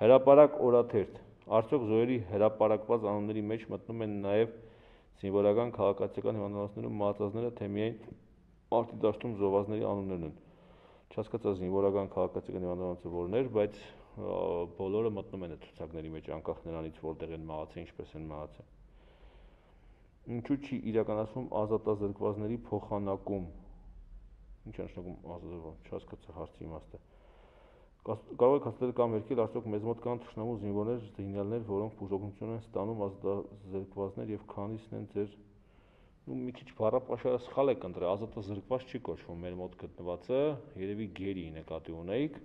Հրապարակ օրաթերթ, արդյոք զոհերի հրապարակված անունների մեջ մտնում են նաև զինվորական քաղաքացիական հիվանդանոցներում մահացածները, թե միայն մարտի դաշտում զոհվածների անուններն են։ Չհասկացա զինվորական քաղաքացիական հիվանդանոցը որներ, բայց բոլորը մտնում են այդ ցուցակների մեջ, անկախ նրանից որտեղ են մահացել, ինչպես են մահացել։ Ինչու չի իրականացվում ազատազրկվածների փոխանակում։ Ինչ է նշանակում ազատազրկված, չհասկացա հարցի իմաստը։ Կարող եք հաստատել կամ վերքել, արդյոք մեզ մոտ կան թշնամու զինվորներ, զինյալներ, որոնք բուժօգնություն են ստանում ազատազրկվածներ եւ քանիսն են ձեր մի քիչ բառապաշարը սխալ եք ընտրել, ազատազրկված չի կոչվում մեր մոտ գտնվածը, երևի գերի նկատի ունեիք,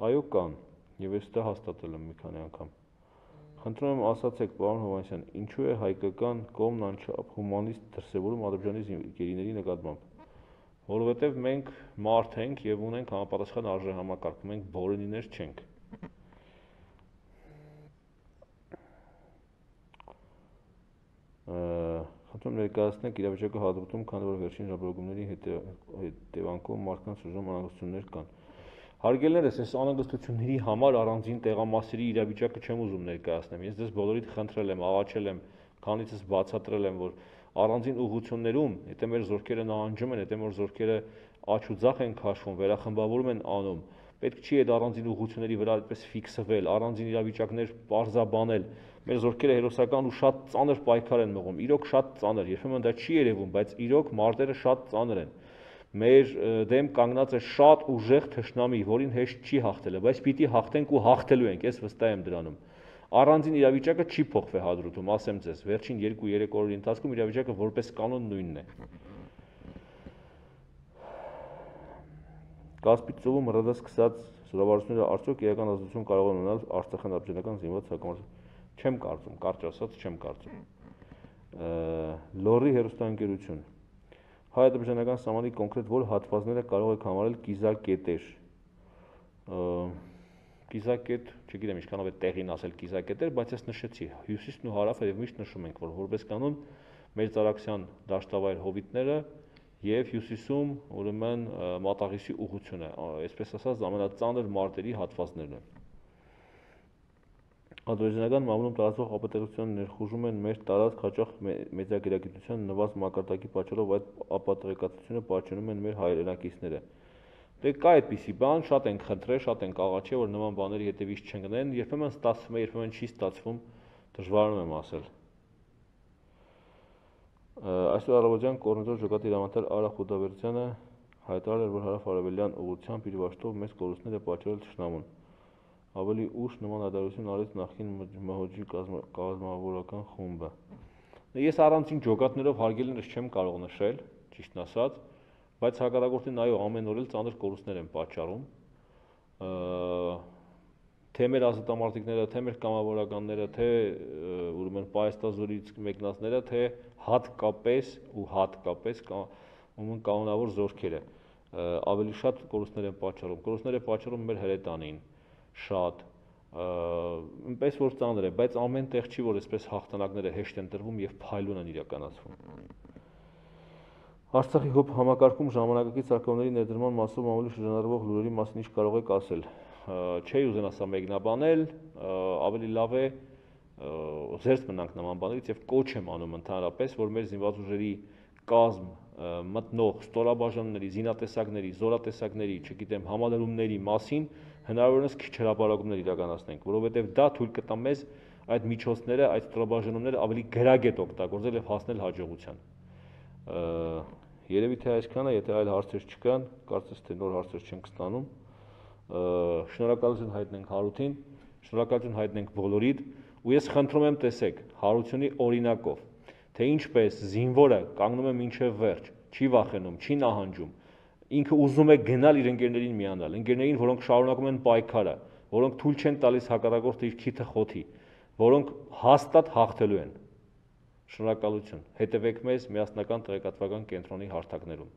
այո կան, եւ ես դա հաստատել եմ մի քանի անգամ։ Խնդրում եմ ասացեք, պարոն Հովհաննիսյան, ինչու է հայկական կողմն անչափ հումանիստ դրսևորում Ադրբեջանի գերիների նկատմամբ։ Որովհետև մենք մարդ ենք եւ ունենք համապատասխան արժեհամակարգ, մենք բորենիներ չենք։ Խնդրում ներկայացնեք իրավիճակը հատուտում, քանի որ վերջին ժամանակների հետևանքով մարդկանց ուժում անհանգստություններ կան։ Հարգելներս, այս անհանգստությունների համար առանձին տեղամասերի իրավիճակը չեմ ուզում ներկայացնեմ։ Ես ձեզ բոլորիդ խնդրել եմ, աղաչել եմ, քանիցս բացատրել եմ, որ առանձին ուղղություններում, եթե մեր զորքերը նահանջում են, եթե մեր զորքերը աչ ու ձախ են քաշվում, վերախմբավորում են անում, պետք չի այդ առանձին ուղղությունների վրա այդպես ֆիքսվել, առանձին իրավիճակներ պարզաբանել։ Մեր զորքերը հերոսական ու շատ ծանր պայքար են մղում, իրոք շատ ծանր, երբեմն դա չի երևում, բայց իրոք մարտերը շատ ծանր են։ Մեր դեմ կանգնած է շատ ուժեղ թշնամի, որին հեշտ չի հաղթելը, բայց պիտի հաղթենք ու հաղթելու ենք, ես վստահ եմ դրանում։ Առանձին իրավիճակը չի փոխվել հադրութում, ասեմ ձեզ, վերջին 2-3 օրերի ընթացքում իրավիճակը որպես կանոն նույնն է։ Կասպից ծովում ՌԴ սկսած զորավարությունները արդյոք իրական ազդեցություն կարող են ունենալ Արցախյան ադրբեջանական զինված հակամարտության։ Չեմ կարծում, կարճ ասած չեմ կարծում։ Լոռի հեռուստաընկերություն։ Հայ-ադրբեջանական սահմանի կոնկրետ որ հատվածները կարող եք համարել կիզակետեր։ Կիզակետ, չգիտեմ ինչքանով է տեղին ասել կիզակետեր, բայց ես նշեցի, հյուսիսն ու հարավը եւ միշտ նշում ենք, որ որպես կանոն մեր ծառակցության դաշտավայր հովիտները եւ հյուսիսում ուրեմն մատաղիսի ուղղությունը, այսպես ասած ամենածանր մարտերի հատվածներն են։ Ադրբեջանական մամուլում տարածվող ապատեղության ներխուժում են մեր տարածք հաճախ մեծագերագիտության նվազ մակարդակի պատճառով այդ ապատեղեկատվությունը պահանջում են մեր հայրենակիցները։ Դե կա այդպիսի բան, շատ ենք խնդրել, շատ ենք աղաչել, որ նման բաների հետևից չընկնեն, երբեմն ստացվում է, երբեմն չի ստացվում, դժվարանում եմ ասել։ Այսօր առավոտյան կորնեզոր ջոկատի հրամանատար Արա Խուդավերդյանը հայտարարել էր, որ հարավ-արևելյան ուղղությամբ իր վաշտով մեծ կորուստներ է պատճառել թշնամուն։ Ավելի ուշ նման հայտարարություն արեց նախկին ՄՀՕ-ի կազմավորական խումբը։ Ես առանցին ջոկատներով հարգելիներս չեմ կարող նշել, ճիշտն ասած, բայց հակառակորդին այո ամեն օր էլ ծանր կորուստներ են պատճառում։ Թե մեր ազատամարտիկները, թե մեր կամավորականները, թե ուրեմն Պայաստազորից մեկնածները, թե հատկապես կանոնավոր զորքերը ավելի շատ կորուստներ են պատճառում։ Կորուստներ է պատճառում մեր հրետանին, շատ, այնպես որ ծանր է, բայց ամեն տեղ չի, որ այսպես հաղթանակները հեշտ են տրվում եւ փայլուն են իրականացվում։ Արցախի հոբ համակարգում ժամանակակից արկղների ներդրման մասով մամուլի շրջանառվող լուրերի մասին ինչ կարող եք ասել։ Չէի ուզենա սա մեկնաբանել, ավելի լավ է զերծ մնանք նման բաներից եւ կոչ եմ անում ընդհանրապես, որ մեր զինված ուժերի կազմ մտնող ստորաբաժանումների, զինատեսակների, զորատեսակների, չգիտեմ, համալրումների մասին հնարավորինս քիչ հրապարակումներ իրականացնենք, որովհետեւ դա թույլ կտա մեզ այդ միջոցները, այդ ստորաբաժանումները ավելի գրագետ օգտագործել եւ հասնել հաջողության։ Երևի թե այսքանը, եթե այլ հարցեր չկան, կարծես թե նոր հարցեր չենք ստանում։ Շնորհակալություն հայտնենք Հարութին, շնորհակալություն հայտնենք բոլորիդ, ու ես խնդրում եմ տեսեք Հարությունի օրինակով, թե ինչպես զինվորը կանգնում է մինչև վերջ, չի վախենում, չի նահանջում, ինքը ուզում է գնալ իր ընկերներին միանալ, ընկերներին, որոնք շարունակում են պայքարը, որոնք թույլ չեն տալիս հակառակորդը իր քիթը խոթի, որոնք հաստատ հաղթելու են։ Շնորհակալություն, հետևեք մեզ միասնական տեղեկատվական կենտրոնի հարթակներում։